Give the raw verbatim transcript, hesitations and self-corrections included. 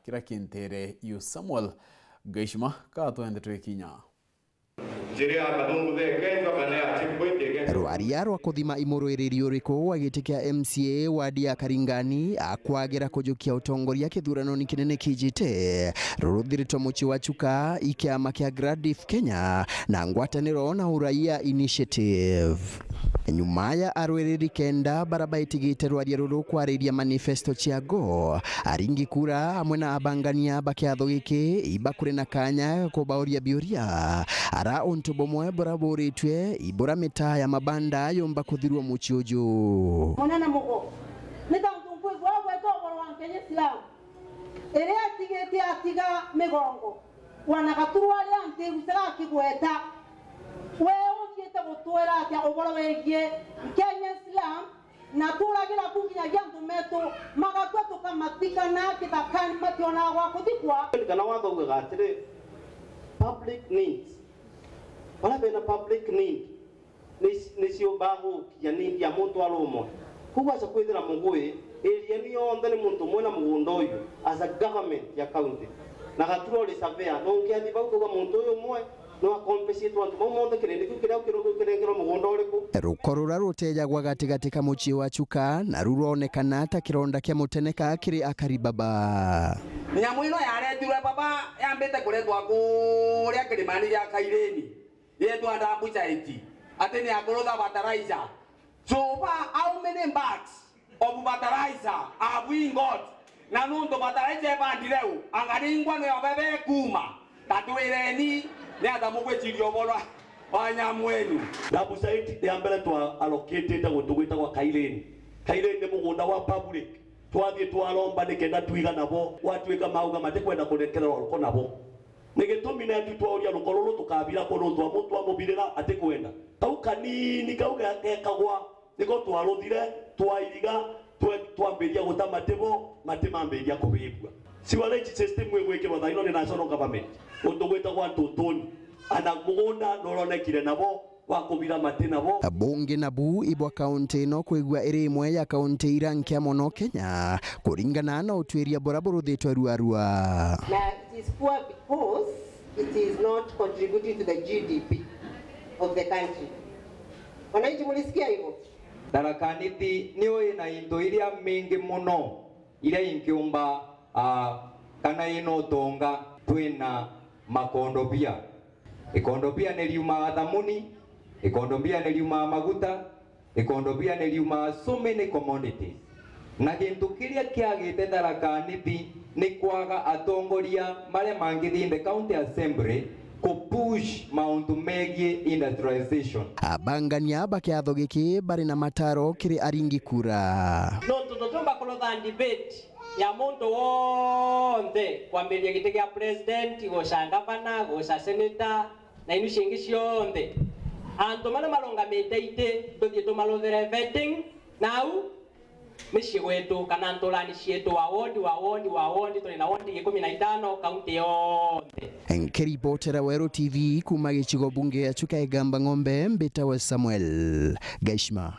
kira kintere yu Samuel Gaishima, ka twende twikinya. Njira ya kathungu the against kana ya checkpoint against. Rwaria rwa kuthima imurwiriri uriku wa giti kia M C A wadi ya Karingani akwagira kujukia utongoria kithuranoni kinene kijite ruruthiritwe mucii wa Chuka i kiama kia Gradif Kenya na ngwataniro na Uraia Initiative. Nyuma ya arwiriri kenda bara baitigite rwaria ruru kwariria manifesto ciago, aringi kura amwe na abangania ba kiatho giki iba kuri na kanya ga kubauria biuria ara untu bumwe bura buritue ibura mitaa ya mabanda yumba kuthirua mucii uju. Munene mugo, ni tontu nkwigua ugweta uboro wa Nkenya Islam iria atigitie atiga migongo. Wana Gaturwa aria ntigusega akigweta, we uthiite gutwira atia uboro wigie Nkenya Islam, na turagira ku nginyagia antu metu magatua tukamatikana kithakani mationaga gwa kuthikwa? Kana watho ugaga atiri, public needs, baria bena public need ni, ni ciumbaga gukinya need ya muntu ari umwe. Koguo aca kwithira Mugui area ino yonthe ni muntu umwe na mugunda uyu as a government ya county. Na Gaturwa uri surveyor, no ungiathi bau kuuga muntu uyu umwe no akompecietwe antu bau monthe kirindi kiu kiria kiru-, kirengerwe mugunda uriku? Ruko ruria rutejagwa gatigati ka mucii wa Chuka naru rwonekana ta kironda kia muteneka kiri akari baba. Nyamu ino yaretirwe baba yambite kuretwa kuria kirimani gia Kaireni. Yetwa Ndambucaiti, ati ni akurutha fertilizer. So far, how many bags of fertilizer have we got? Na nuntu fertilizer ibandire u, angaringwa ni obebe kuma. Tatwireni, ni ata mugwiciria uboro wa nyamu enu? Ndambucaiti ni ambere twa allocatete guntu gwitagwa Kaireni. Kaireni ni mugunda wa public. Twathie twaromba nikenda twiga nabo, gwatuika mauga matikwenda kurekererwa ruko nabo. Ni gitumi netu twauria ruko ruru tukabira ku nuntu wa muntu amubirira atikwenda. Kau kanini kau ge-, gekagwa, niko twaruthire, twairiga, twe-, twambiria guta matibo, mati mambiria kubibua. Sewerage system igwikirwa thaa ino ni national government. Guntu gwitagwa Ntuntuni. Ana mugunda nuronekire nabo, wa kubira mati nabo. Bungi nabu ibwa kaunti ino kwigua iri imwe ya kaunti iria nkia mono Kenya, kuringana na utwiria buria buruthitwe ruarua. Na it is poor because it is not contributing to the G D P of the country. Wananchi, mulisikia hivyo? Tharaka Nithi niyo ina into iria mingi mono iria ingiumba, ah, kana ina utonga. Twina makondobia. Ikondobia ni riumaa thamuni, ikondobia ni riumaa maguta, ikondobia ni riumaa so many commodities. Na gintu kiria kiagite Tharaka Nithi ni kwaga atongoria maria mangithi in the county assembly ku push mauntu megie industrialization. Abangania ba kiatho giki bari na mataro kiri aringi kura. Nontu tutiumba kurutha debate ya muntu wonthe, kwambiria giti gia president, guca gavana, guca senator, na inu ciingi cionthe. Antu maria marungamite iti, tuthie tumaruthere vetting, nau micii gwetu, kana nturani cietu, wa ward, wa ward, wa ward, turi na ward ikumi na itano, kaunti yonthe. Nkiripotera Weru T V kuuma gicigo bunge ya Chuka Igamba Ng'ombe, mbitawe Samuel Gaishima.